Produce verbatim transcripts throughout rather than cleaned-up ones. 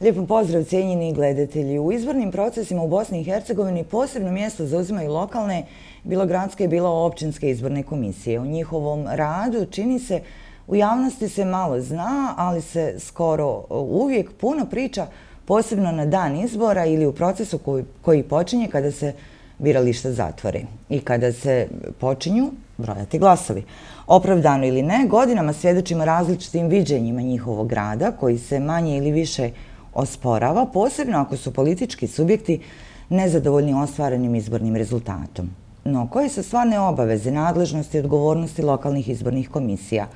Lijepo pozdrav cijenjeni gledatelji. U izbornim procesima u Bosni i Hercegovini posebno mjesto zauzimaju lokalne, bilo gradske, bilo općinske izborne komisije. O njihovom radu čini se u javnosti se malo zna, ali se skoro uvijek puno priča, posebno na dan izbora ili u procesu koji, koji počinje kada se birališta zatvore i kada se počinju brojati glasovi. Opravdano ili ne, godinama svjedočimo različitim viđenjima njihovog rada koji se manje ili više osporava, posebno ako su politički subjekti nezadovoljni ostvarenim izbornim rezultatom. No, koje su stvarne obaveze, nadležnosti i odgovornosti lokalnih izbornih komisija?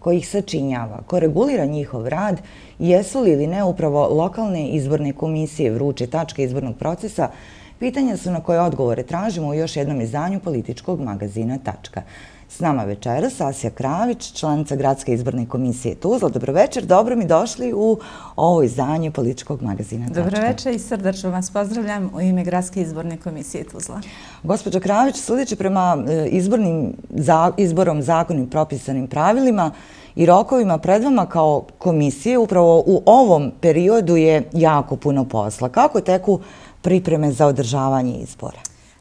Ko ih sačinjava? Ko regulira njihov rad? Jesu li ili ne upravo lokalne izborne komisije vruće tačke izbornog procesa? Pitanja su na koje odgovore tražimo u još jednom izdanju političkog magazina Tačka. S nama večeras Asja Kravić, članica Gradske izborne komisije Tuzla. Dobro večer, dobro mi došli u ovo izdanje političkog magazina Tačka. Dobro večer i srdačno vas pozdravljam u ime Gradske izborne komisije Tuzla. Gospođo Kravić, sudeći prema izbornim, za, izborom zakonim propisanim pravilima i rokovima pred vama kao komisije, upravo u ovom periodu je jako puno posla. Kako teku pripreme za održavanje izbora?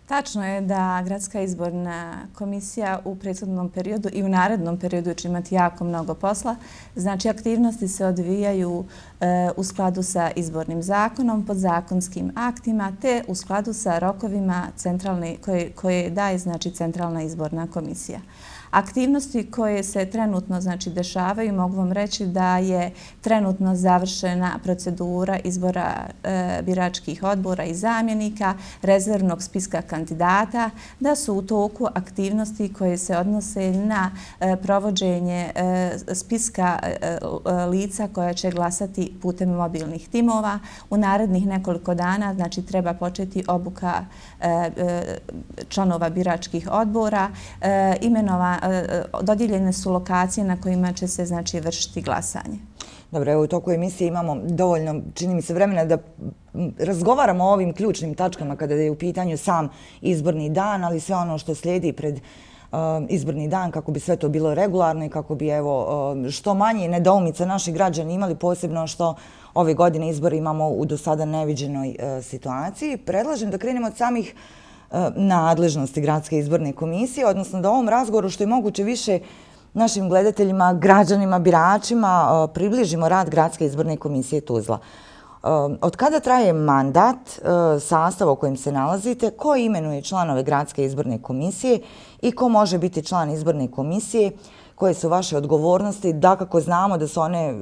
Tačno je da Gradska izborna komisija u prethodnom periodu i u narednom periodu će imati jako mnogo posla. Znači, aktivnosti se odvijaju e, u skladu sa izbornim zakonom, podzakonskim aktima, te u skladu sa rokovima centralne, koje, koje daje znači, Centralna izborna komisija. Aktivnosti koje se trenutno znači, dešavaju, mogu vam reći da je trenutno završena procedura izbora e, biračkih odbora i zamjenika, rezervnog spiska kandidata, da su u toku aktivnosti koje se odnose na e, provođenje e, spiska e, lica koja će glasati putem mobilnih timova. U narednih nekoliko dana znači, treba početi obuka e, e, članova biračkih odbora, e, imenova dodijeljene su lokacije na kojima će se znači vršiti glasanje. Dobro, evo u toku emisije imamo dovoljno, čini mi se, vremena da razgovaramo o ovim ključnim tačkama kada je u pitanju sam izborni dan, ali sve ono što slijedi pred uh, izborni dan kako bi sve to bilo regularno i kako bi evo uh, što manje nedoumica naši građani imali, posebno što ove godine izbore imamo u do sada neviđenoj uh, situaciji. Predlažem da krenemo od samih nadležnosti Gradske izborne komisije, odnosno da ovom razgovoru što je moguće više našim gledateljima, građanima, biračima približimo rad Gradske izborne komisije Tuzla. Od kada traje mandat, sastav u kojem se nalazite, ko imenuje članove Gradske izborne komisije i ko može biti član izborne komisije, koje su vaše odgovornosti, da kako znamo da su one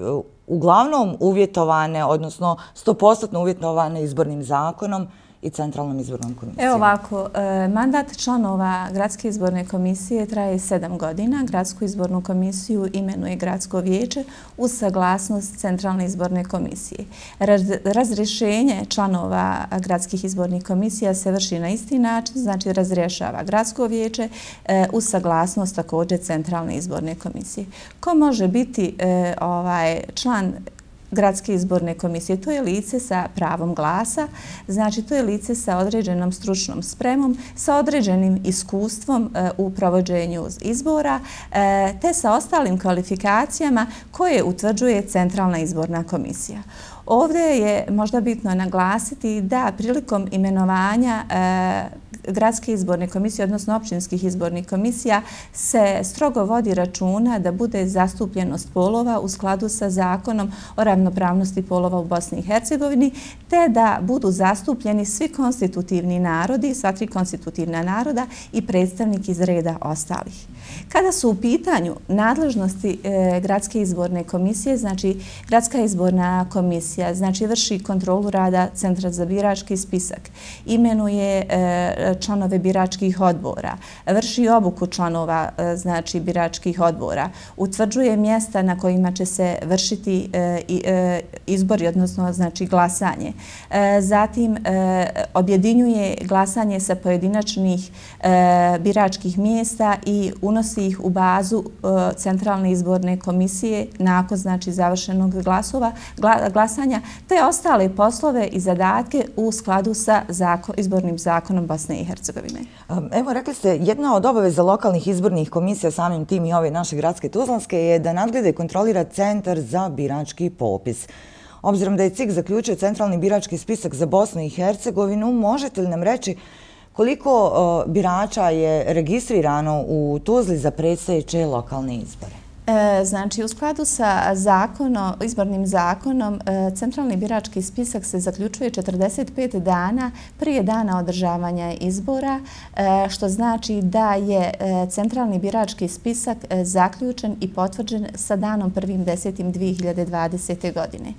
uglavnom uvjetovane, odnosno sto posto uvjetovane izbornim zakonom i Centralnom izbornom komisijom. Evo ovako, mandat članova Gradske izborne komisije traje sedam godina. Gradsku izbornu komisiju imenuje Gradsko vijeće uz saglasnost Centralne izborne komisije. Razrješenje članova gradskih izbornih komisija se vrši na isti način, znači razrješava Gradsko vijeće uz saglasnost također Centralne izborne komisije. Ko može biti ovaj član Gradske izborne komisije? To je lice sa pravom glasa, znači to je lice sa određenom stručnom spremom, sa određenim iskustvom e, u provođenju izbora, e, te sa ostalim kvalifikacijama koje utvrđuje Centralna izborna komisija. Ovdje je možda bitno naglasiti da prilikom imenovanja e, Gradske izborne komisije, odnosno općinskih izbornih komisija, se strogo vodi računa da bude zastupljenost polova u skladu sa zakonom o ravnopravnosti polova u Bosni i Hercegovini, te da budu zastupljeni svi konstitutivni narodi, sva tri konstitutivna naroda i predstavnik iz reda ostalih. Kada su u pitanju nadležnosti e, Gradske izborne komisije, znači Gradska izborna komisija znači vrši kontrolu rada Centra za birački spisak, imenuje e, članove biračkih odbora, vrši obuku članova znači biračkih odbora, utvrđuje mjesta na kojima će se vršiti izbori, odnosno znači glasanje. Zatim objedinjuje glasanje sa pojedinačnih biračkih mjesta i unosi ih u bazu Centralne izborne komisije nakon znači završenog glasova, glasanja, te ostale poslove i zadatke u skladu sa zakon, izbornim zakonom Bosne i Hercegovine. Evo, rekli ste, jedna od obaveza lokalnih izbornih komisija, samim tim i ove naše gradske Tuzlanske, je da nadgleda i kontrolira Centar za birački popis. Obzirom da je C I K zaključio centralni birački spisak za Bosnu i Hercegovinu, možete li nam reći koliko birača je registrirano u Tuzli za predstojeće lokalne izbore? Znači, u skladu sa izbornim zakonom, centralni birački spisak se zaključuje četrdeset pet dana prije dana održavanja izbora, što znači da je centralni birački spisak zaključen i potvrđen sa danom prvim desetim dve hiljade dvadesete. godine.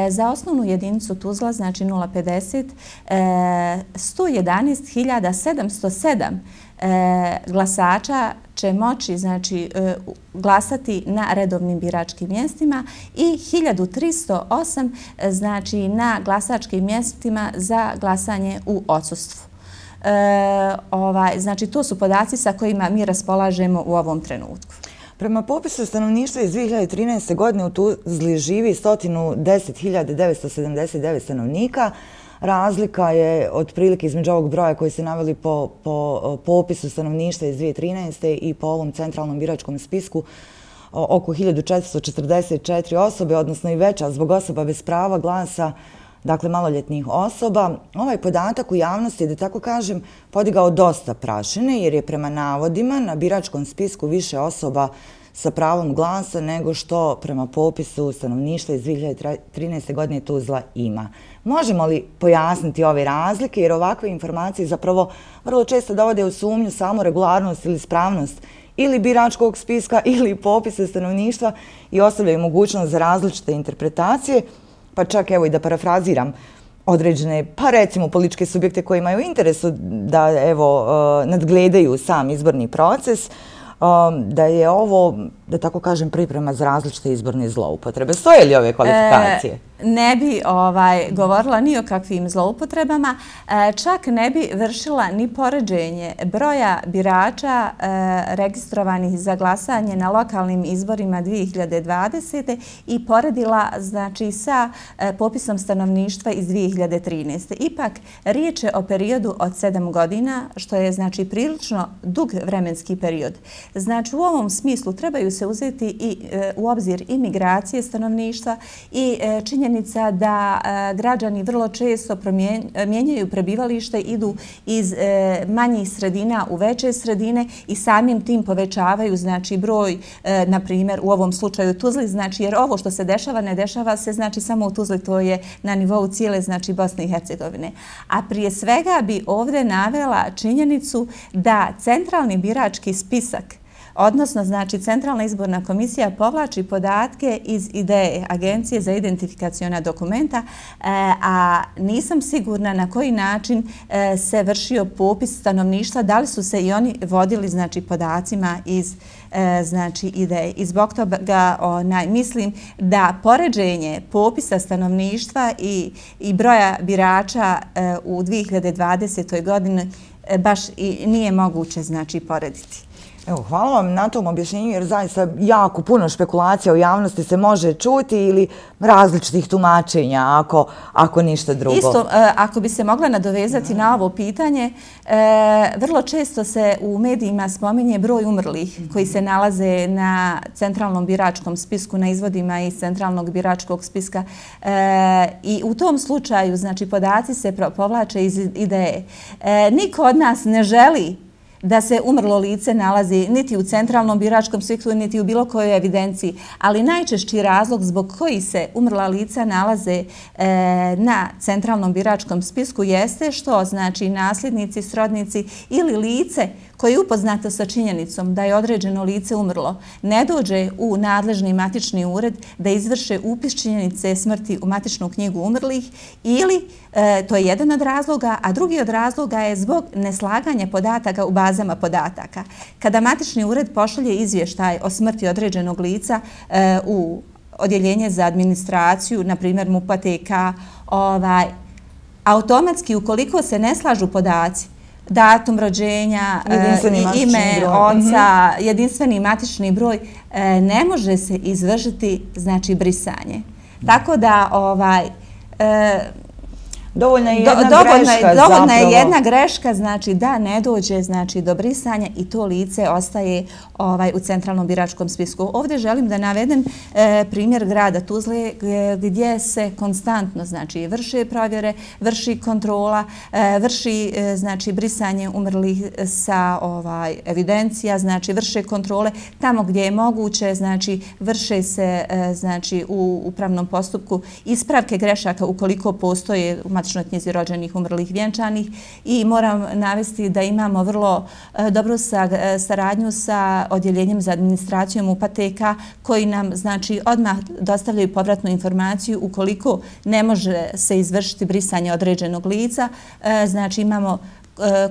Za osnovnu jedinicu Tuzla, znači nula pedeset, sto jedanaest hiljada sedamsto sedam glasača će moći znači, glasati na redovnim biračkim mjestima i hiljadu tristo osam znači, na glasačkim mjestima za glasanje u odsustvu. E, ovaj, znači, to su podaci sa kojima mi raspolažemo u ovom trenutku. Prema popisu stanovništva iz dve hiljade trinaeste. godine u Tuzli živi sto deset hiljada devetsto sedamdeset devet stanovnika. Razlika je otprilike između ovog broja koji ste naveli po, po popisu stanovništva iz dve hiljade trinaeste. i po ovom centralnom biračkom spisku oko hiljadu četiristo četrdeset četiri osobe, odnosno i veća zbog osoba bez prava glasa, dakle maloljetnih osoba. Ovaj podatak u javnosti je, da tako kažem, podigao dosta prašine jer je prema navodima na biračkom spisku više osoba sa pravom glasa nego što prema popisu stanovništva iz dve hiljade trinaeste. godine Tuzla ima. Možemo li pojasniti ove razlike, jer ovakve informacije zapravo vrlo često dovode u sumnju samo regularnost ili ispravnost ili biračkog spiska ili popisa stanovništva i ostavljaju mogućnost za različite interpretacije, pa čak evo i da parafraziram određene, pa recimo političke subjekte koji imaju interesu da evo nadgledaju sam izborni proces, da je ovo, da tako kažem, priprema za različite izborne zloupotrebe. Stoje li ove kvalifikacije? Ne bi ovaj, govorila ni o kakvim zloupotrebama, čak ne bi vršila ni poređenje broja birača registrovanih za glasanje na lokalnim izborima dve hiljade dvadesete. i poredila znači, sa popisom stanovništva iz dve hiljade trinaeste. Ipak, riječ je o periodu od sedam godina, što je znači, prilično dug vremenski period. Znači, u ovom smislu trebaju se uzeti i u obzir i migracije stanovništva i činjenica da građani vrlo često mijenjaju prebivalište, idu iz manjih sredina u veće sredine i samim tim povećavaju znači broj, na primjer u ovom slučaju Tuzli, znači jer ovo što se dešava ne dešava se znači samo u Tuzli, to je na nivou cijele znači Bosne i Hercegovine. A prije svega bi ovdje navela činjenicu da centralni birački spisak, odnosno, znači, Centralna izborna komisija povlači podatke iz ideje Agencije za identifikaciona dokumenta, a nisam sigurna na koji način se vršio popis stanovništva, da li su se i oni vodili, znači, podacima iz znači, ideje. I zbog toga onaj, mislim da poređenje popisa stanovništva i, i broja birača u dve hiljade dvadesetoj. godini baš i nije moguće, znači, porediti. Evo, hvala vam na tom objašnjenju, jer zaista jako puno špekulacija u javnosti se može čuti ili različitih tumačenja, ako, ako ništa drugo. Isto, ako bi se mogla nadovezati na ovo pitanje, vrlo često se u medijima spominje broj umrlih koji se nalaze na centralnom biračkom spisku, na izvodima iz centralnog biračkog spiska i u tom slučaju, znači, podaci se povlače iz ideje. Niko od nas ne želi da se umrlo lice nalazi niti u centralnom biračkom spisku, niti u bilo kojoj evidenciji, ali najčešći razlog zbog koji se umrla lica nalaze e, na centralnom biračkom spisku jeste što, znači, nasljednici, srodnici ili lice koje je upoznato sa činjenicom da je određeno lice umrlo, ne dođe u nadležni matični ured da izvrše upis činjenice smrti u matičnu knjigu umrlih ili, e, to je jedan od razloga, a drugi od razloga je zbog neslaganja podataka u bazama podataka. Kada matični ured pošalje izvještaj o smrti određenog lica e, u odjeljenje za administraciju, na primjer M U P A T K, ovaj, automatski ukoliko se ne slažu podaci, datum rođenja, ime oca, jedinstveni matični broj, ne može se izvršiti, znači, brisanje. Tako da, ovaj, Dovoljna je jedna dovoljna, greška dovoljna zapravo. je jedna greška, znači da ne dođe znači, do brisanja i to lice ostaje ovaj, u centralnom biračkom spisku. Ovdje želim da navedem e, primjer grada Tuzle gdje se konstantno znači, vrše provjere, vrši kontrola, e, vrši e, znači, brisanje umrlih sa ovaj, evidencija, znači vrše kontrole tamo gdje je moguće, znači vrše se e, znači, u upravnom postupku ispravke grešaka ukoliko postoje u matičnoj knjizi rođenih, umrlih, vjenčanih i moram navesti da imamo vrlo e, dobru sa, e, saradnju sa odjeljenjem za administracijom U P A T K koji nam znači odmah dostavljaju povratnu informaciju ukoliko ne može se izvršiti brisanje određenog lica, e, znači imamo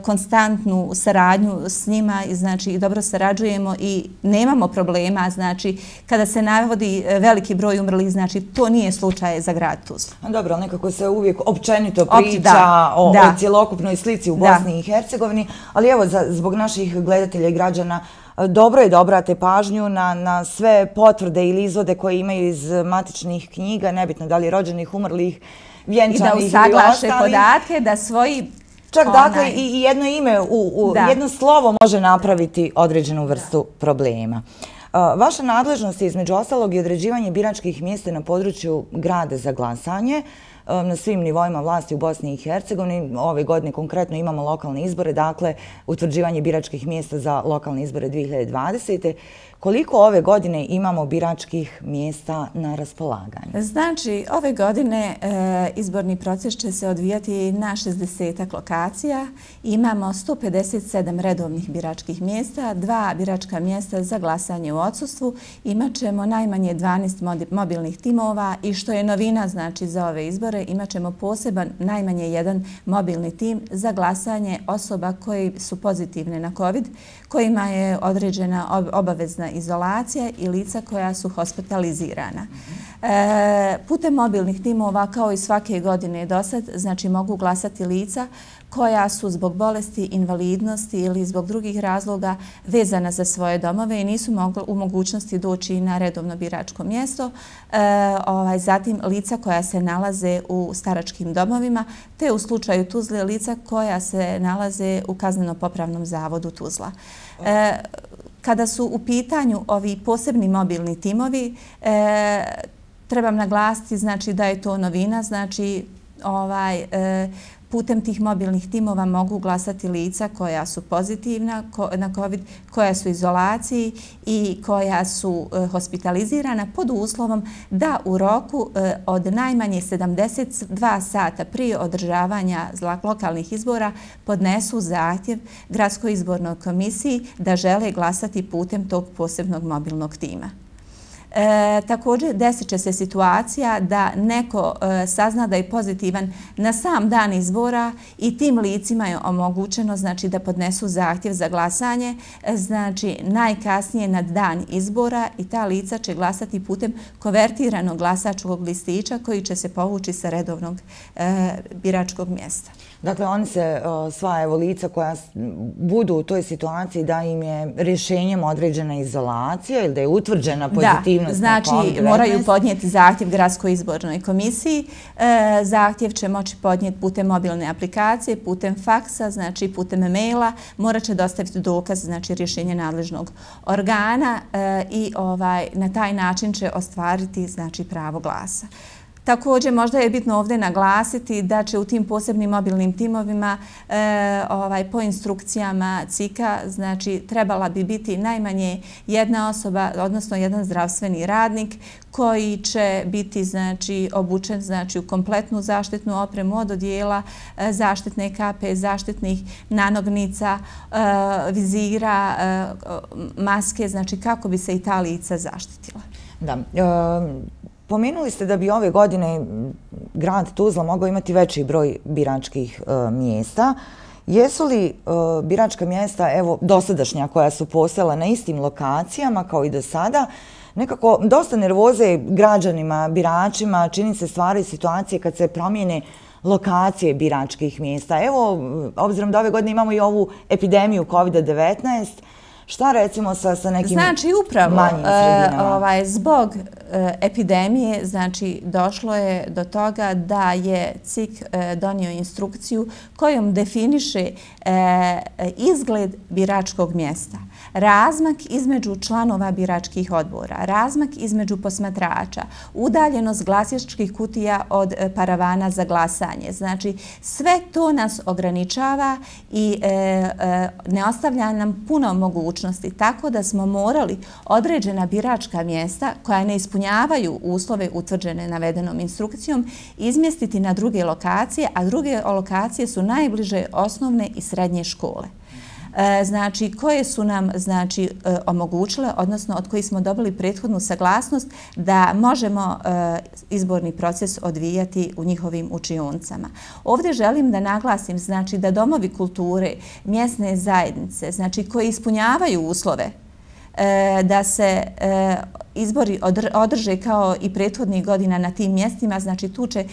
konstantnu saradnju s njima i znači dobro sarađujemo i nemamo problema, znači kada se navodi veliki broj umrlih, znači to nije slučaj za grad Tuzla. Dobro, ali nekako se uvijek općenito priča o, o cjelokupnoj slici u Bosni i Hercegovini, ali evo za, zbog naših gledatelja i građana dobro je da obrate pažnju na, na sve potvrde ili izvode koje imaju iz matičnih knjiga, nebitno da li rođenih, umrlih, vjenčanih ili ostali. I da usaglaše podatke, da svoji Čak dakle i jedno ime, u jedno slovo može napraviti određenu vrstu problema. Vaša nadležnost je između ostalog i određivanje biračkih mjesta na području grada za glasanje na svim nivoima vlasti u Bosni i Hercegovini. Ove godine konkretno imamo lokalne izbore, dakle utvrđivanje biračkih mjesta za lokalne izbore dvije hiljade dvadesete. Koliko ove godine imamo biračkih mjesta na raspolaganju? Znači, ove godine e, izborni proces će se odvijati na šezdeset lokacija. Imamo sto pedeset sedam redovnih biračkih mjesta, dva biračka mjesta za glasanje u odsustvu. Imaćemo najmanje dvanaest mobilnih timova i što je novina znači, za ove izbore, imaćemo poseban najmanje jedan mobilni tim za glasanje osoba koji su pozitivne na COVID, kojima je određena obavezna izolacija i lica koja su hospitalizirana. E, putem mobilnih timova, kao i svake godine do sad, znači mogu glasati lica koja su zbog bolesti, invalidnosti ili zbog drugih razloga vezana za svoje domove i nisu mogli u mogućnosti doći na redovno biračko mjesto. E, ovaj, zatim lica koja se nalaze u staračkim domovima, te u slučaju Tuzle lica koja se nalaze u kazneno-popravnom zavodu Tuzla. E, Kada su u pitanju ovi posebni mobilni timovi, e, trebam naglasiti znači, da je to novina, znači ovaj, e, putem tih mobilnih timova mogu glasati lica koja su pozitivna na COVID, koja su u izolaciji i koja su hospitalizirana pod uslovom da u roku od najmanje sedamdeset dva sata prije održavanja lokalnih izbora podnesu zahtjev Gradskoj izbornoj komisiji da žele glasati putem tog posebnog mobilnog tima. E, također desit će se situacija da neko e, sazna da je pozitivan na sam dan izbora i tim licima je omogućeno znači, da podnesu zahtjev za glasanje, e, znači najkasnije na dan izbora i ta lica će glasati putem konvertiranog glasačkog listića koji će se povući sa redovnog e, biračkog mjesta. Dakle, oni se, sva evo lica koja budu u toj situaciji da im je rješenjem određena izolacija ili da je utvrđena pozitivnost na COVID devetnaest. Znači moraju podnijeti zahtjev Gradskoj izbornoj komisiji. Zahtjev će moći podnijeti putem mobilne aplikacije, putem faksa, znači putem maila. Morat će dostaviti dokaz, znači rješenje nadležnog organa i ovaj, na taj način će ostvariti znači, pravo glasa. Također, možda je bitno ovdje naglasiti da će u tim posebnim mobilnim timovima e, ovaj, po instrukcijama C I K-a znači, trebala bi biti najmanje jedna osoba, odnosno jedan zdravstveni radnik koji će biti znači, obučen znači, u kompletnu zaštitnu opremu od odijela, e, zaštitne kape, zaštitnih nanognica, e, vizira, e, maske, znači kako bi se i ta lica zaštitila. Da. E Pomenuli ste da bi ove godine grad Tuzla mogao imati veći broj biračkih e, mjesta. Jesu li e, biračka mjesta, evo, dosadašnja koja su postojala na istim lokacijama kao i do sada, nekako dosta nervoze građanima, biračima, čini se stvari i situacije kad se promijene lokacije biračkih mjesta. Evo, obzirom da ove godine imamo i ovu epidemiju COVID devetnaest, šta recimo sa, sa nekim znači, upravo, manjim sredinama? Znači, ovaj, zbog epidemije, znači došlo je do toga da je C I K donio instrukciju kojom definiše izgled biračkog mjesta, razmak između članova biračkih odbora, razmak između posmatrača, udaljenost glasačkih kutija od paravana za glasanje. Znači, sve to nas ograničava i e, e, ne ostavlja nam puno mogućnosti, tako da smo morali određena biračka mjesta koja ne ispunjavaju uslove utvrđene navedenom instrukcijom izmjestiti na druge lokacije, a druge lokacije su najbliže osnovne i srednje škole. Znači, koje su nam znači, omogućile, odnosno od kojih smo dobili prethodnu saglasnost da možemo izborni proces odvijati u njihovim učionicama. Ovdje želim da naglasim znači, da domovi kulture, mjesne zajednice, znači, koji ispunjavaju uslove da se izbori održe kao i prethodnih godina na tim mjestima, znači tu će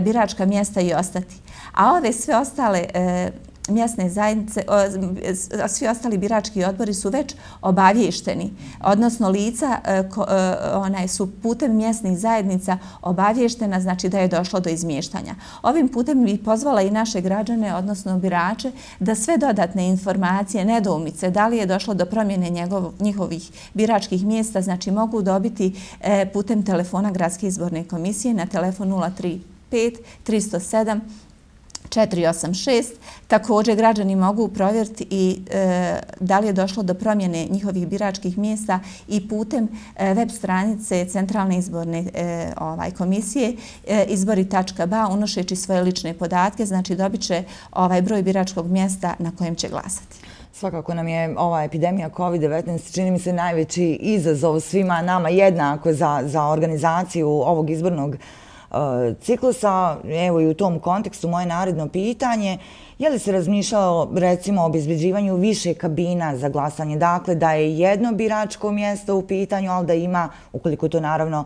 biračka mjesta i ostati. A ove sve ostale mjesne zajednice, svi ostali birački odbori su već obavješteni, odnosno lica su putem mjesnih zajednica obavještena, znači da je došlo do izmještanja. Ovim putem bih pozvala i naše građane, odnosno birače, da sve dodatne informacije, nedoumice, da li je došlo do promjene njihovih biračkih mjesta, znači mogu dobiti putem telefona Gradske izborne komisije na telefon nula tri pet tri zero sedam četiri osam šest. Također građani mogu provjeriti i e, da li je došlo do promjene njihovih biračkih mjesta i putem e, web stranice Centralne izborne e, ovaj, komisije e, izbori tačka ba unošeći svoje lične podatke, znači dobit će ovaj broj biračkog mjesta na kojem će glasati. Svakako nam je ova epidemija kovid devetnaest čini mi se najveći izazov svima nama jednako za, za organizaciju ovog izbornog ciklusa. Evo i u tom kontekstu moje naredno pitanje, je li se razmišljalo recimo o obezbeđivanju više kabina za glasanje, dakle da je jedno biračko mjesto u pitanju, ali da ima, ukoliko to naravno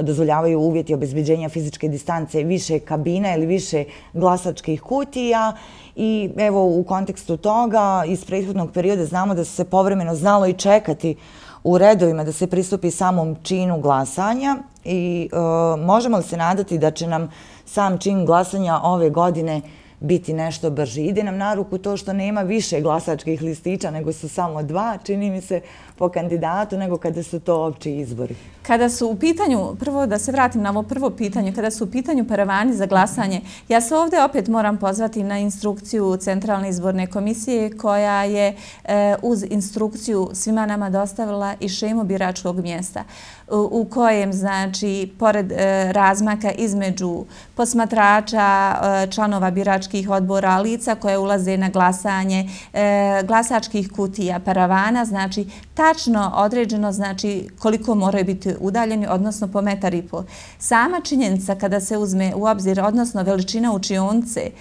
dozvoljavaju uvjeti obezbeđenja fizičke distance, više kabina ili više glasačkih kutija. I evo u kontekstu toga iz prethodnog perioda znamo da su se povremeno znalo i čekati u redovima da se pristupi samom činu glasanja i e, možemo li se nadati da će nam sam čin glasanja ove godine biti nešto brži? Ide nam na ruku to što nema više glasačkih listića, nego su samo dva, čini mi se, po kandidatu, nego kada su to opći izbori. Kada su u pitanju, prvo da se vratim na ovo prvo pitanje, kada su u pitanju paravani za glasanje, ja se ovdje opet moram pozvati na instrukciju Centralne izborne komisije koja je e, uz instrukciju svima nama dostavila i šemu biračkog mjesta u, u kojem, znači, pored e, razmaka između posmatrača, e, članova biračkih odbora, lica koje ulaze na glasanje, e, glasačkih kutija, paravana, znači, tačno određeno, znači, koliko moraju biti udaljeni, odnosno po metar i po. Sama činjenica kada se uzme u obzir, odnosno veličina učionice,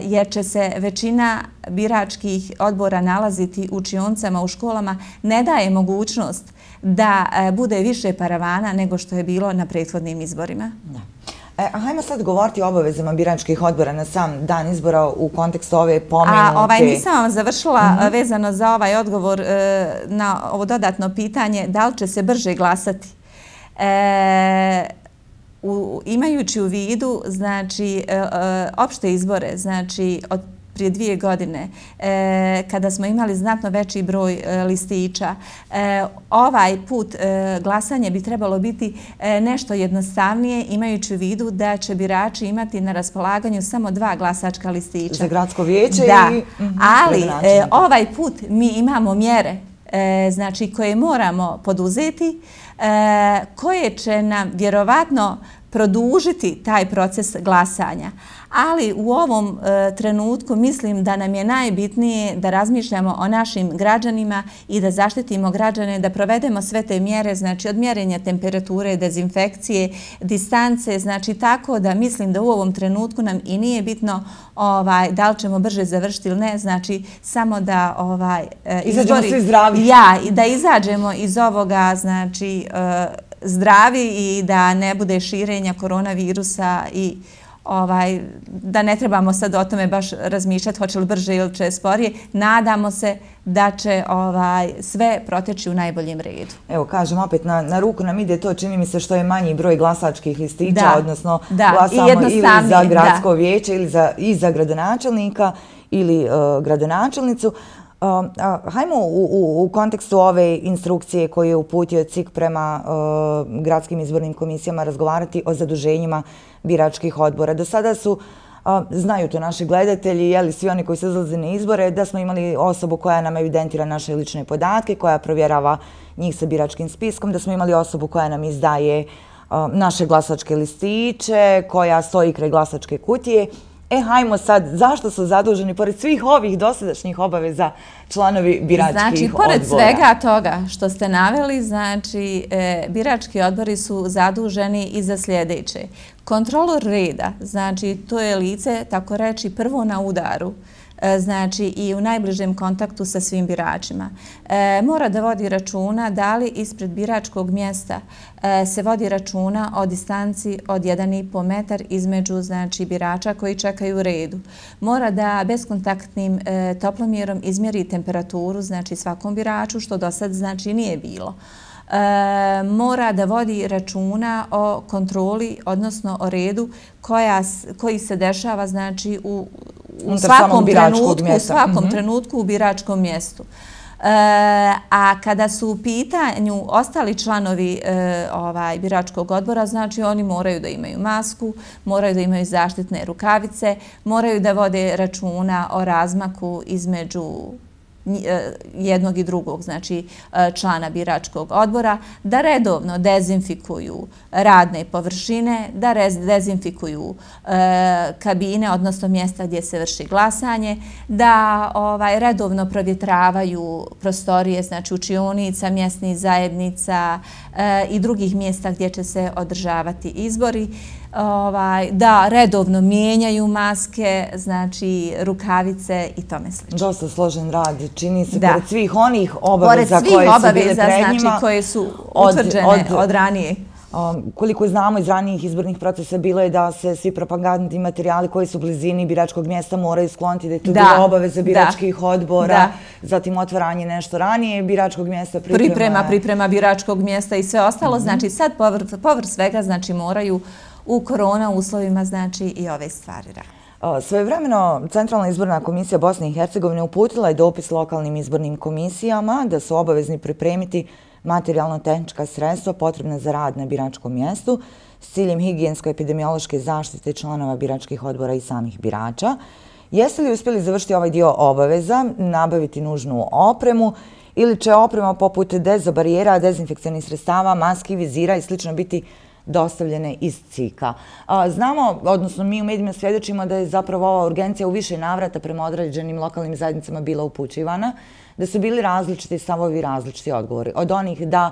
jer će se većina biračkih odbora nalaziti u učionicama u školama, ne daje mogućnost da bude više paravana nego što je bilo na prethodnim izborima. Da. E, hajmo sad govoriti o obavezama biračkih odbora na sam dan izbora u kontekstu ove pomenute... A ovaj, nisam vam završila mm-hmm. vezano za ovaj odgovor e, na ovo dodatno pitanje, da li će se brže glasati. E, u, imajući u vidu, znači, e, e, opšte izbore, znači, od prije dvije godine, e, kada smo imali znatno veći broj e, listića. E, ovaj put e, glasanje bi trebalo biti e, nešto jednostavnije, imajući u vidu da će birači imati na raspolaganju samo dva glasačka listića. Za gradsko vijeće da. i... Mm-hmm, ali e, ovaj put mi imamo mjere e, znači, koje moramo poduzeti, e, koje će nam vjerovatno produžiti taj proces glasanja. Ali u ovom e, trenutku mislim da nam je najbitnije da razmišljamo o našim građanima i da zaštitimo građane, da provedemo sve te mjere, znači od mjerenja temperature, dezinfekcije, distance, znači tako da mislim da u ovom trenutku nam i nije bitno ovaj, da li ćemo brže završiti ili ne, znači samo da ovaj, e, izađemo svi zdravi. Ja, i da izađemo iz ovoga, znači, e, zdravi i da ne bude širenja koronavirusa i ovaj, da ne trebamo sad o tome baš razmišljati hoće li brže ili će sporije. Nadamo se da će ovaj, sve proteći u najboljem redu. Evo, kažem opet, na, na ruku nam ide to, čini mi se, što je manji broj glasačkih listića, da, odnosno da, glasamo ili za gradsko da. vijeće ili za, i za gradonačelnika ili uh, gradonačelnicu. Uh, uh, hajmo u, u, u kontekstu ove instrukcije koju je uputio C I K prema uh, gradskim izbornim komisijama razgovarati o zaduženjima biračkih odbora. Do sada su, uh, znaju to naši gledatelji, jeli svi oni koji se izlaze na izbore, da smo imali osobu koja nam evidentira naše lične podatke, koja provjerava njih sa biračkim spiskom, da smo imali osobu koja nam izdaje uh, naše glasačke listiće, koja stoji kraj glasačke kutije. E, hajmo sad, zašto su zaduženi, pored svih ovih dosadašnjih obaveza, članovi biračkih znači, odbora? Znači, pored svega toga što ste naveli, znači, e, birački odbori su zaduženi i za sljedeće. Kontrolor reda, znači, to je lice, tako reći, prvo na udaru, znači i u najbližem kontaktu sa svim biračima. E, mora da vodi računa da li ispred biračkog mjesta e, se vodi računa o distanci od jedan i po metar između znači, birača koji čekaju u redu. Mora da beskontaktnim e, toplomjerom izmjeri temperaturu znači svakom biraču, što do sad znači nije bilo. E, mora da vodi računa o kontroli, odnosno o redu koja, koji se dešava znači u u svakom trenutku, u svakom mm-hmm. trenutku u biračkom mjestu. E, a kada su u pitanju ostali članovi e, ovaj, biračkog odbora, znači oni moraju da imaju masku, moraju da imaju zaštitne rukavice, moraju da vode računa o razmaku između jednog i drugog, znači člana biračkog odbora, da redovno dezinfikuju radne površine, da dezinfikuju kabine, odnosno mjesta gdje se vrši glasanje, da ovaj, redovno provjetravaju prostorije, znači učionica, mjesnih zajednica i drugih mjesta gdje će se održavati izbori. Ovaj, da redovno mijenjaju maske, znači rukavice i tome slično. Dosta složen rad, čini se, da. Pored svih onih obaveza koje su obaveza, bile pred njima. Znači, koje su utvrđene od, od, od ranije. Um, koliko znamo iz ranijih izbornih procesa bilo je da se svi propagandni materijali koji su u blizini biračkog mjesta moraju skloniti, da je to bila obaveza biračkih da. odbora, da. zatim otvaranje nešto ranije biračkog mjesta, priprema... Priprema, priprema biračkog mjesta i sve ostalo. Mm-hmm. Znači sad povr, povr svega znači moraju u korona uslovima znači i ove stvari radi. Svojevremeno Centralna izborna komisija Bosne i Hercegovine uputila je dopis lokalnim izbornim komisijama da su obavezni pripremiti materijalno-tehnička sredstva potrebna za rad na biračkom mjestu s ciljem higijensko-epidemiološke zaštite članova biračkih odbora i samih birača. Jeste li uspjeli završiti ovaj dio obaveza, nabaviti nužnu opremu ili će oprema poput dezobarijera, dezinfekcionih sredstava, maski, vizira i slično biti dostavljene iz C I K-a. Znamo, odnosno mi u medijima svjedočimo da je zapravo ova urgencija u više navrata prema određenim lokalnim zajednicama bila upućivana, da su bili različiti stavovi, različiti odgovori. Od onih da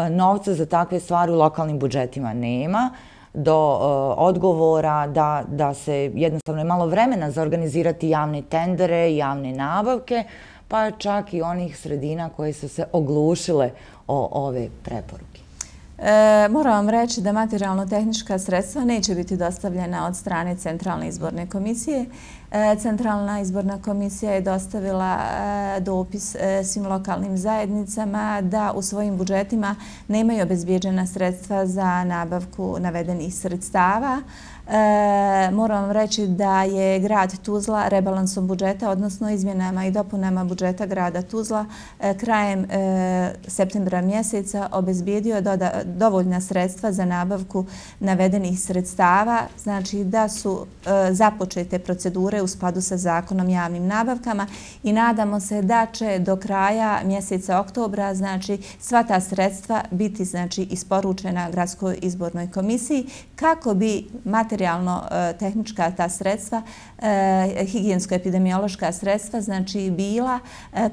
novca za takve stvari u lokalnim budžetima nema, do uh, odgovora da, da se jednostavno je malo vremena za organizirati javne tendere, javne nabavke, pa čak i onih sredina koje su se oglušile o ove preporuke. E, moram vam reći da materijalno-tehnička sredstva neće biti dostavljena od strane Centralne izborne komisije. E, Centralna izborna komisija je dostavila e, dopis e, svim lokalnim zajednicama da u svojim budžetima nemaju obezbijeđena sredstva za nabavku navedenih sredstava. E, moram vam reći da je grad Tuzla rebalansom budžeta, odnosno izmjenama i dopunama budžeta grada Tuzla, e, krajem e, septembra mjeseca obezbijedio doda, dovoljna sredstva za nabavku navedenih sredstava, znači da su e, započete procedure u skladu sa zakonom o javnim nabavkama i nadamo se da će do kraja mjeseca oktobra znači sva ta sredstva biti znači isporučena gradskoj izbornoj komisiji kako bi materijalno-tehnička ta sredstva, higijensko-epidemiološka sredstva, znači bila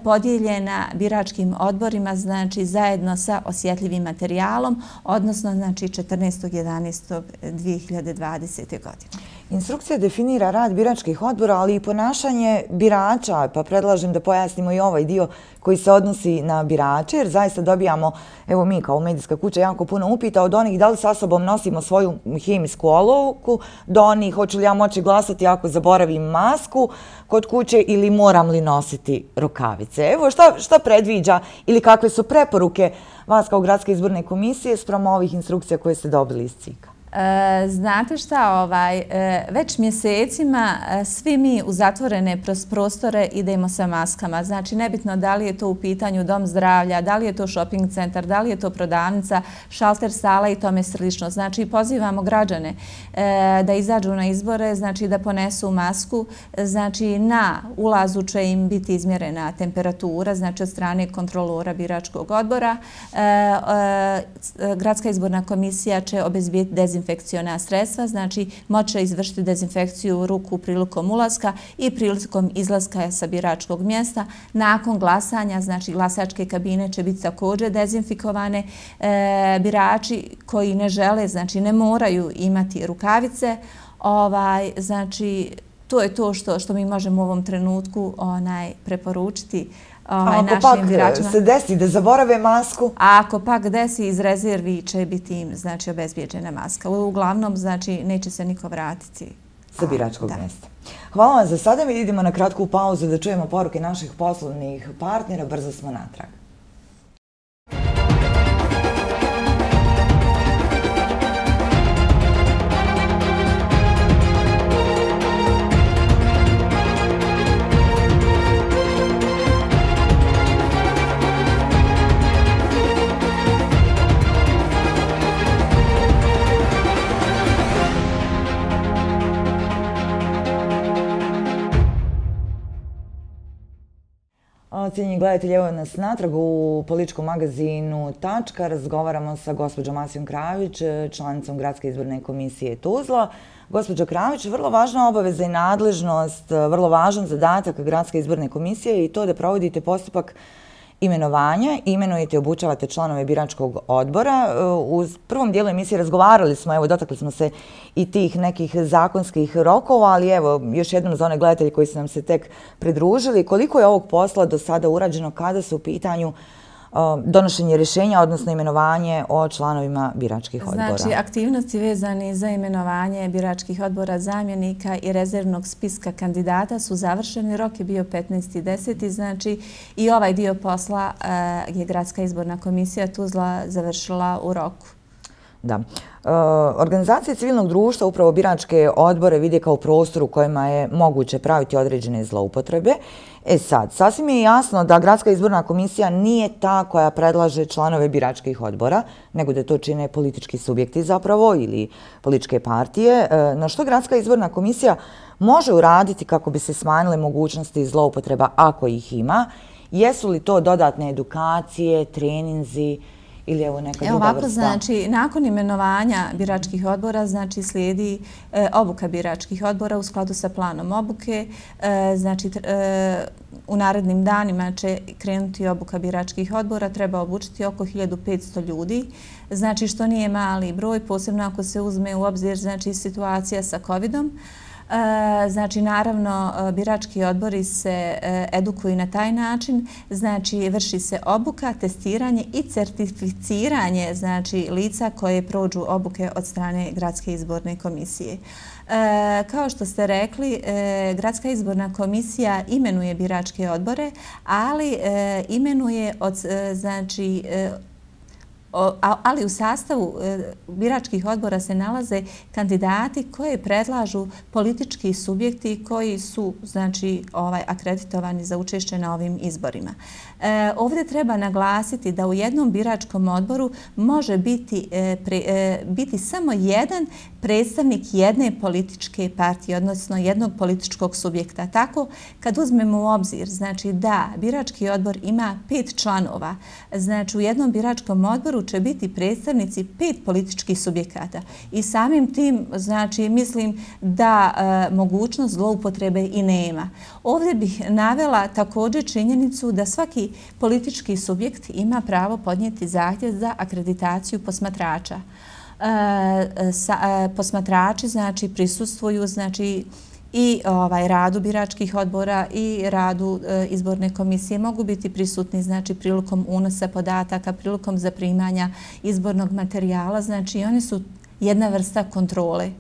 podijeljena biračkim odborima, znači zajedno sa osjetljivim materijalom, odnosno znači četrnaestog jedanaestog dvije hiljade dvadesete. godine. Instrukcija definira rad biračkih odbora, ali i ponašanje birača, pa predlažem da pojasnimo i ovaj dio koji se odnosi na birače, jer zaista dobijamo, evo mi kao medijska kuća, jako puno upita od onih da li sa sobom nosimo svoju hemijsku olovku, do onih hoću li ja moći glasati ako zaboravim masku kod kuće ili moram li nositi rukavice. Evo šta, šta predviđa ili kakve su preporuke vas kao Gradske izborne komisije spram ovih instrukcija koje ste dobili iz C I K-a? Znate šta, ovaj, već mjesecima svi mi u zatvorene prostore idemo sa maskama. Znači, nebitno da li je to u pitanju dom zdravlja, da li je to shopping centar, da li je to prodavnica, šalter sala i tome slično. Znači, pozivamo građane da izađu na izbore, znači da ponesu masku. Znači, na ulazu će im biti izmjerena temperatura, znači od strane kontrolora biračkog odbora. Gradska izborna komisija će obezbijeti dezinfekciju dezinfekciona sredstva, znači moće izvršiti dezinfekciju ruku prilikom ulaska i prilikom izlaska sa biračkog mjesta. Nakon glasanja, znači glasačke kabine će biti također dezinfikovane. E, birači koji ne žele, znači ne moraju imati rukavice, ovaj, znači to je to što, što mi možemo u ovom trenutku onaj, preporučiti. Ovaj, ako pak biračima. Se desi da zaborave masku? A ako pak desi, iz rezervi će biti im znači, obezbijeđena maska. Uglavnom, znači, neće se niko vratiti sa biračkog mjesta. Hvala vam za sada. Mi idemo na kratku pauzu da čujemo poruke naših poslovnih partnera. Brzo smo natrag. Cijenjeni gledatelji, evo nas natrag u političkom magazinu Tačka. Razgovaramo sa gospođom Asijom Kravić, članicom Gradske izborne komisije Tuzla. Gospođo Kravić, vrlo važna obaveza i nadležnost, vrlo važan zadatak Gradske izborne komisije i to da provodite postupak imenovanja, imenujete i obučavate članove biračkog odbora. U prvom dijelu emisije razgovarali smo, evo dotakli smo se i tih nekih zakonskih rokova, ali evo još jednom za one gledatelji koji su nam se tek pridružili, koliko je ovog posla do sada urađeno kada su u pitanju donošenje rješenja, odnosno imenovanje o članovima biračkih odbora. Znači, aktivnosti vezane za imenovanje biračkih odbora, zamjenika i rezervnog spiska kandidata su završeni. Rok je bio petnaesti deseti Znači, i ovaj dio posla je Gradska izborna komisija Tuzla završila u roku. Da. Organizacije civilnog društva upravo biračke odbore vide kao prostor u kojima je moguće praviti određene zloupotrebe. E sad, sasvim je jasno da Gradska izborna komisija nije ta koja predlaže članove biračkih odbora, nego da to čine politički subjekti zapravo ili političke partije. Na što Gradska izborna komisija može uraditi kako bi se smanjile mogućnosti zloupotreba ako ih ima? Jesu li to dodatne edukacije, treninzi ili evo neka druga vrsta? Ovako, znači, nakon imenovanja biračkih odbora, znači, slijedi obuka biračkih odbora u skladu sa planom obuke. Znači, u narednim danima će krenuti obuka biračkih odbora. Treba obučiti oko hiljadu petsto ljudi, znači, što nije mali broj, posebno ako se uzme u obzir, znači, situacija sa covidom. Znači, naravno, birački odbori se edukuju na taj način, znači, vrši se obuka, testiranje i certificiranje, znači, lica koje prođu obuke od strane Gradske izborne komisije. Kao što ste rekli, Gradska izborna komisija imenuje biračke odbore, ali imenuje od, znači, ali u sastavu biračkih odbora se nalaze kandidati koje predlažu politički subjekti koji su, znači, ovaj, akreditovani za učešće na ovim izborima. E, ovdje treba naglasiti da u jednom biračkom odboru može biti, e, pre, e, biti samo jedan predstavnik jedne političke partije, odnosno jednog političkog subjekta. Tako, kad uzmemo u obzir, znači, da birački odbor ima pet članova, znači, u jednom biračkom odboru će biti predstavnici pet političkih subjekata i samim tim, znači, mislim da e, mogućnost zloupotrebe i nema. Ovdje bih navela također činjenicu da svaki politički subjekt ima pravo podnijeti zahtjev za akreditaciju posmatrača. posmatrači znači prisustvuju znači i ovaj radu biračkih odbora i radu e, izborne komisije, mogu biti prisutni znači prilikom unosa podataka, prilikom zaprimanja izbornog materijala, znači oni su jedna vrsta kontrole.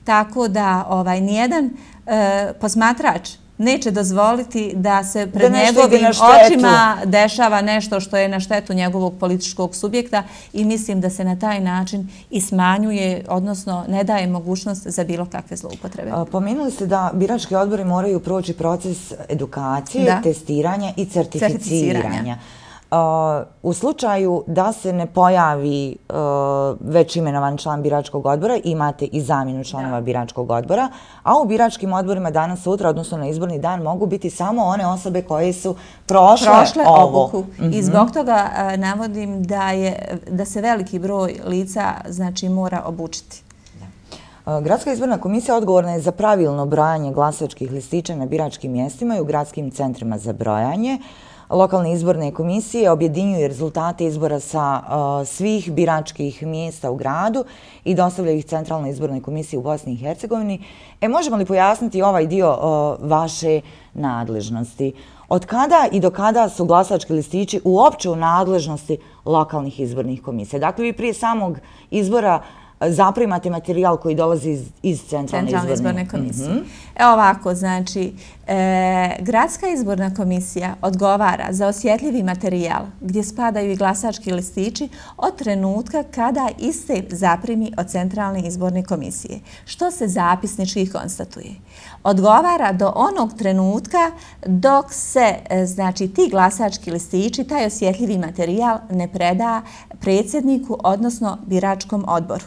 Tako da ovaj nijedan e, posmatrač neće dozvoliti da se pred njegovim očima dešava nešto što je na štetu njegovog političkog subjekta i mislim da se na taj način i smanjuje, odnosno ne daje mogućnost za bilo kakve zloupotrebe. Pomenuli ste da birački odbori moraju proći proces edukacije, testiranja i certificiranja. U slučaju da se ne pojavi već imenovan član biračkog odbora, imate i zamjenu članova biračkog odbora, a u biračkim odborima danas, sutra, odnosno na izborni dan, mogu biti samo one osobe koje su prošle obuku. I zbog toga navodim da se veliki broj lica mora obučiti. Gradska izborna komisija odgovorna je za pravilno brojanje glasačkih listića na biračkim mjestima i u gradskim centrima za brojanje. Lokalne izborne komisije objedinjuju rezultate izbora sa svih biračkih mjesta u gradu i dostavljaju ih Centralnoj izbornoj komisiji u Bosni i Hercegovini. E, možemo li pojasniti ovaj dio vaše nadležnosti? Od kada i do kada su glasački listići uopće u nadležnosti lokalnih izbornih komisija? Dakle, vi prije samog izbora zaprimate materijal koji dolazi iz Centralne izborne komisije. Evo ovako, znači, Gradska izborna komisija odgovara za osjetljivi materijal gdje spadaju i glasački listići od trenutka kada iste zaprimi od Centralne izborne komisije, što se zapisnički konstatuje. Odgovara do onog trenutka dok se, znači, ti glasački listići, taj osjetljivi materijal ne preda predsjedniku, odnosno biračkom odboru.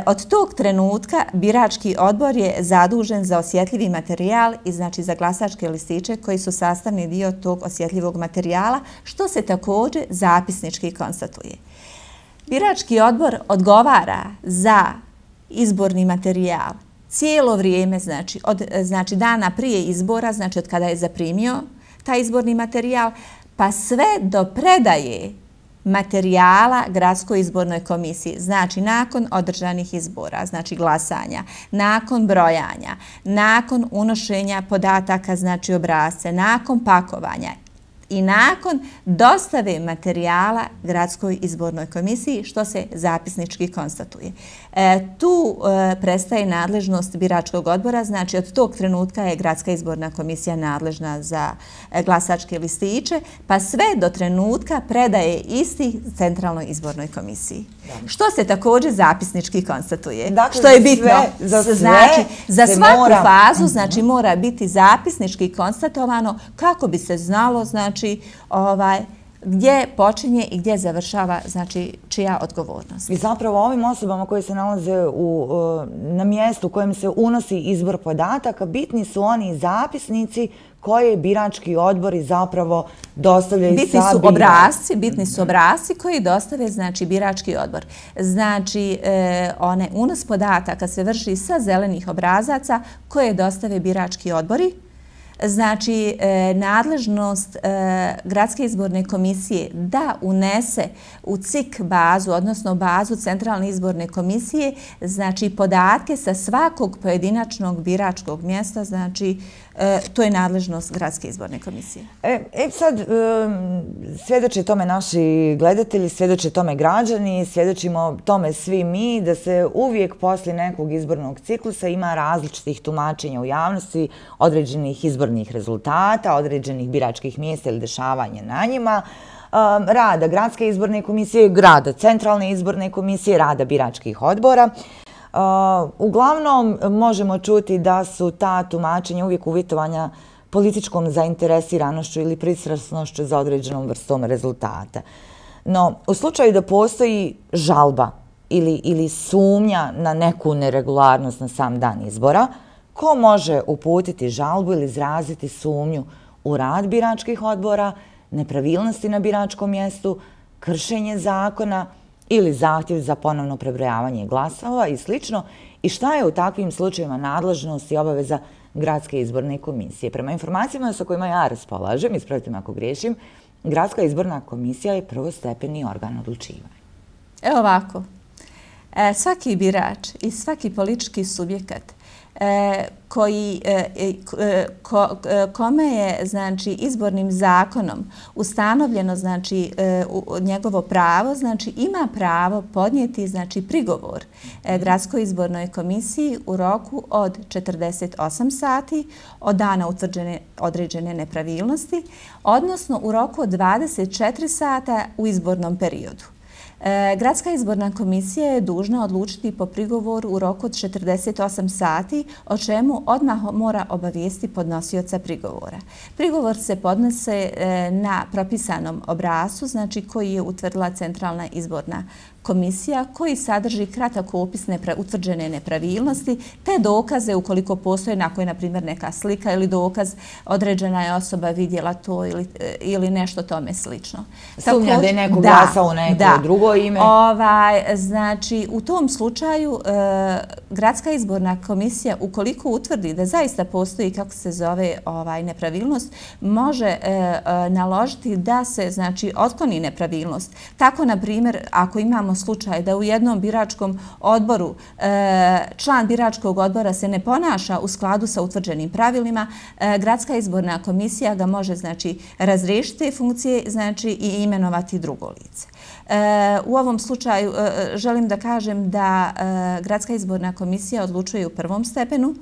Od tog trenutka birački odbor je zadužen za osjetljivi materijal i znači za glasačke listiće koji su sastavni dio tog osjetljivog materijala, što se također zapisnički konstatuje. Birački odbor odgovara za izborni materijal cijelo vrijeme, znači od znači dana prije izbora, znači od kada je zaprimio taj izborni materijal, pa sve do predaje materijala Gradskoj izbornoj komisiji. Znači, nakon održanih izbora, znači glasanja, nakon brojanja, nakon unošenja podataka, znači obrasce, nakon pakovanja i nakon dostave materijala Gradskoj izbornoj komisiji, što se zapisnički konstatuje. E, tu e, prestaje nadležnost biračkog odbora, znači od tog trenutka je Gradska izborna komisija nadležna za e, glasačke listiće, pa sve do trenutka predaje isti Centralnoj izbornoj komisiji. Da. Što se također zapisnički konstatuje. Dakle, što je bitno. Sve, za sve znači, za svaku mora... fazu znači, mora biti zapisnički konstatovano kako bi se znalo znači, ovaj, gdje počinje i gdje završava, znači, čija odgovornost. I zapravo ovim osobama koje se nalaze u, na mjestu u kojem se unosi izbor podataka, bitni su oni zapisnici koje birački odbori zapravo dostavljaju bitni su obrasci, bitni su obrasci koji dostave, znači, birački odbor. Znači, e, one unos podataka se vrši sa zelenih obrazaca koje dostave birački odbori. Znači, e, nadležnost e, Gradske izborne komisije da unese u C I K bazu, odnosno bazu Centralne izborne komisije, znači podatke sa svakog pojedinačnog biračkog mjesta, znači e, to je nadležnost Gradske izborne komisije. E, e sad, e, svjedoče tome naši gledatelji, svjedoče tome građani, svjedočimo tome svi mi, da se uvijek poslije nekog izbornog ciklusa ima različitih tumačenja u javnosti, određenih izbornih rezultata, određenih biračkih mjesta ili dešavanja na njima, rada Gradske izborne komisije, rada Centralne izborne komisije, rada biračkih odbora. Uglavnom možemo čuti da su ta tumačenja uvijek uvjetovanja političkom zainteresiranošću ili pristrasnošću za određenom vrstom rezultata. No, u slučaju da postoji žalba ili, ili sumnja na neku neregularnost na sam dan izbora, ko može uputiti žalbu ili izraziti sumnju u rad biračkih odbora, nepravilnosti na biračkom mjestu, kršenje zakona ili zahtjev za ponovno prebrojavanje glasova i slično, i šta je u takvim slučajevima nadležnost i obaveza Gradske izborne komisije? Prema informacijama sa kojima ja raspolažem, ispravite me ako griješim, Gradska izborna komisija je prvostepeni organ odlučivanja. Evo ovako. Svaki birač i svaki politički subjekat koji, ko, kome je znači izbornim zakonom ustanovljeno znači njegovo pravo, znači ima pravo podnijeti znači prigovor Gradskoj izbornoj komisiji u roku od četrdeset osam sati od dana utvrđene određene nepravilnosti, odnosno u roku od dvadeset četiri sata u izbornom periodu. Gradska izborna komisija je dužna odlučiti po prigovoru u roku od četrdeset osam sati, o čemu odmah mora obavijesti podnosioca prigovora. Prigovor se podnose na propisanom obrascu, znači koji je utvrdila Centralna izborna komisija, koji sadrži kratak opis utvrđene nepravilnosti, te dokaze ukoliko postoje, na koje, na primjer, neka slika ili dokaz, određena je osoba vidjela to ili, ili nešto tome slično. Sumnja da je neko glasao u neko da, drugo ime? Ovaj, znači, u tom slučaju e, Gradska izborna komisija, ukoliko utvrdi da zaista postoji, kako se zove, ovaj, nepravilnost, može e, e, naložiti da se, znači, otkloni nepravilnost. Tako, na primjer, ako imamo slučaj da u jednom biračkom odboru član biračkog odbora se ne ponaša u skladu sa utvrđenim pravilima, Gradska izborna komisija ga može znači razriješiti funkcije znači i imenovati drugo lice. U ovom slučaju želim da kažem da Gradska izborna komisija odlučuje u prvom stepenu,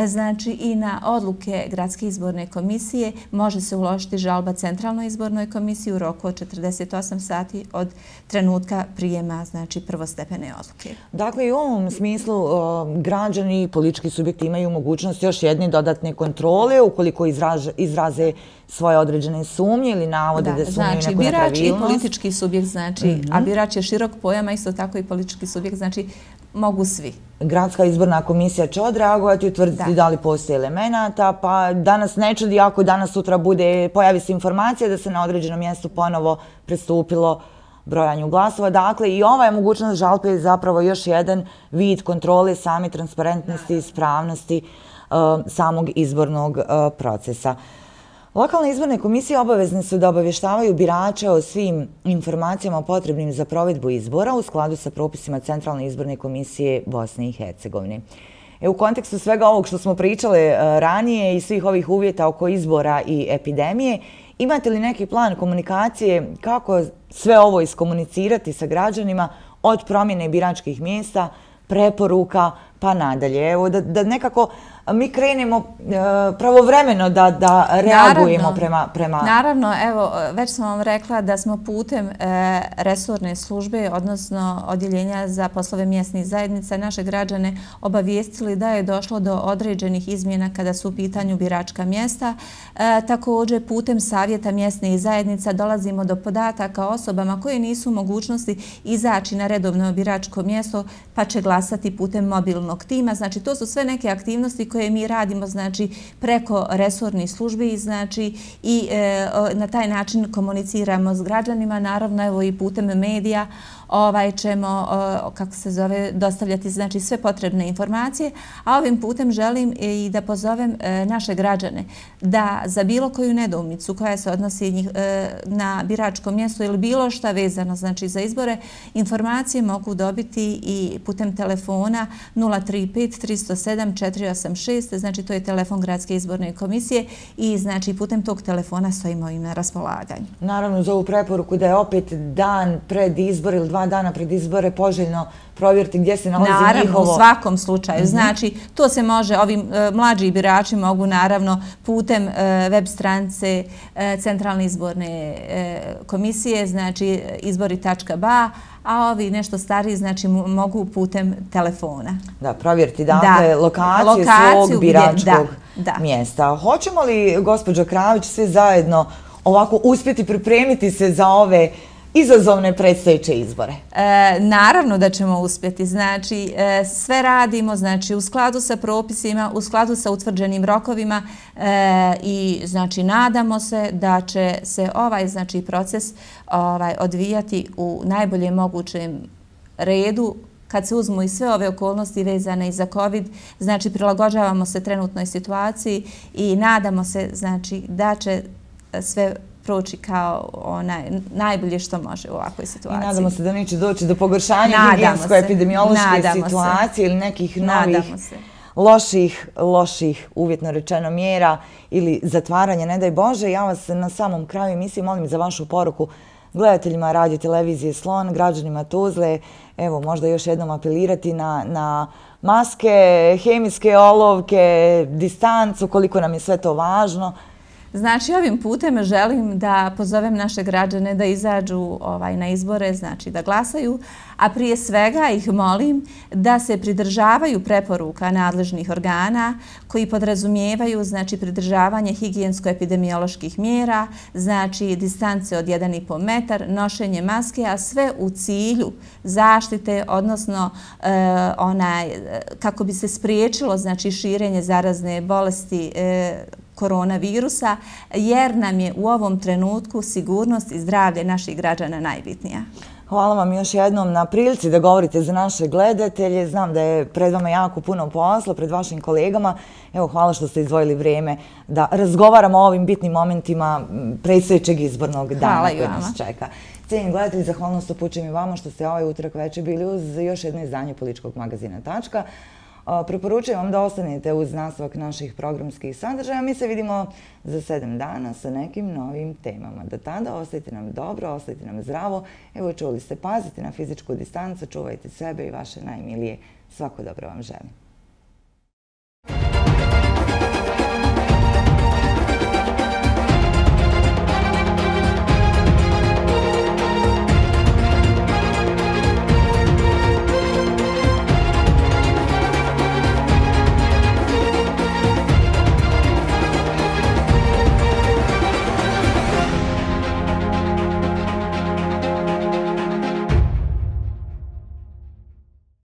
znači i na odluke Gradske izborne komisije može se uložiti žalba Centralnoj izbornoj komisiji u roku od četrdeset osam sati od trenutka prijema znači prvostepene odluke. Dakle, i u ovom smislu građani i politički subjekti imaju mogućnost još jedne dodatne kontrole ukoliko izraže, izraze svoje određene sumnje ili navode da, da sumnju znači, neku nepravilnost. Birač i politički subjekt, znači, mm-hmm. a birač je širok pojam, a isto tako i politički subjekt, znači mogu svi. Gradska izborna komisija će odreagovati i utvrditi da. da li postoje elemenata, pa danas ne čudi ako danas sutra bude, pojavi se informacija da se na određenom mjestu ponovo pristupilo brojanju glasova. Dakle, i ova je mogućnost žalbe je zapravo još jedan vid kontrole same transparentnosti i ispravnosti uh, samog izbornog uh, procesa. Lokalne izborne komisije obavezne su da obavještavaju birače o svim informacijama potrebnim za provedbu izbora u skladu sa propisima Centralne izborne komisije Bosne i Hercegovine. E, u kontekstu svega ovog što smo pričali uh, ranije i svih ovih uvjeta oko izbora i epidemije, imate li neki plan komunikacije kako sve ovo iskomunicirati sa građanima od promjene biračkih mjesta, preporuka pa nadalje? Evo, da, da nekako mi krenemo e, pravovremeno da, da reagujemo naravno, prema, prema... Naravno, evo, već sam vam rekla da smo putem e, resorne službe, odnosno odjeljenja za poslove mjesnih zajednica, naše građane obavijestili da je došlo do određenih izmjena kada su u pitanju biračka mjesta. E, također, putem savjeta mjesnih zajednica dolazimo do podataka osobama koje nisu u mogućnosti izaći na redovno biračko mjesto, pa će glasati putem mobilnog tima. Znači, to su sve neke aktivnosti koje mi radimo znači preko resornih službi znači i e, na taj način komuniciramo s građanima, naravno evo i putem medija ovaj ćemo kako se zove dostavljati znači sve potrebne informacije, a ovim putem želim i da pozovem naše građane da za bilo koju nedoumicu koja se odnosi na biračko mjesto ili bilo šta vezano znači za izbore, informacije mogu dobiti i putem telefona nula tri pet tri zero sedam četiri osam šest, znači to je telefon Gradske izborne komisije i znači putem tog telefona stojimo im na raspolaganju. Naravno, za ovu preporuku da je opet dan pred izbor ili dva dana pred izbore poželjno provjeriti gdje se nalazi naravno, njihovo... Naravno, u svakom slučaju. Mm-hmm. Znači, to se može, ovi e, mlađi birači mogu naravno putem e, web stranice e, Centralne izborne e, komisije, znači izbori tačka ba, a ovi nešto stariji znači mogu putem telefona. Da, provjeriti dakle da. lokaciju, lokaciju svog biračkog da, da. mjesta. Hoćemo li, gospođo Kravić, svi zajedno ovako uspjeti pripremiti se za ove izazovne predstojeće izbore? E, naravno da ćemo uspjeti. Znači, e, sve radimo znači, u skladu sa propisima, u skladu sa utvrđenim rokovima e, i znači, nadamo se da će se ovaj znači, proces ovaj, odvijati u najboljem mogućem redu. Kad se uzmu i sve ove okolnosti vezane i za COVID, znači prilagođavamo se trenutnoj situaciji i nadamo se znači, da će sve proći kao onaj najbolje što može u ovakvoj situaciji. I nadamo se da neće doći do pogoršanja higijensko-epidemiološke situacije ili nekih novih loših, loših, uvjetno rečeno, mjera ili zatvaranja, ne daj Bože. Ja vas na samom kraju emisije molim za vašu poruku gledateljima radio televizije Slon, građanima Tuzle, evo možda još jednom apelirati na, na maske, hemijske olovke, distancu, koliko nam je sve to važno. Znači, ovim putem želim da pozovem naše građane da izađu ovaj, na izbore, znači da glasaju, a prije svega ih molim da se pridržavaju preporuka nadležnih organa koji podrazumijevaju znači, pridržavanje higijensko-epidemioloških mjera, znači distance od jedan i po metar, nošenje maske, a sve u cilju zaštite, odnosno e, onaj, kako bi se spriječilo znači, širenje zarazne bolesti e, koronavirusa, jer nam je u ovom trenutku sigurnost i zdravlje naših građana najbitnija. Hvala vam još jednom na prilici da govorite za naše gledatelje. Znam da je pred vama jako puno posla, pred vašim kolegama. Evo, hvala što ste izdvojili vrijeme da razgovaramo o ovim bitnim momentima predstojećeg izbornog dana koji nas čeka. Cijenjeni gledatelji, zahvalnost upućujem i vama što ste ovaj utorak večer bili uz još jedno izdanje političkog magazina Tačka. Preporučujem vam da ostanete uz nastavak naših programskih sadržaja. Mi se vidimo za sedam dana sa nekim novim temama. Do tada ostajte nam dobro, ostajte nam zdravo. Evo, čuli ste, pazite na fizičku distancu, čuvajte sebe i vaše najmilije. Svako dobro vam želim.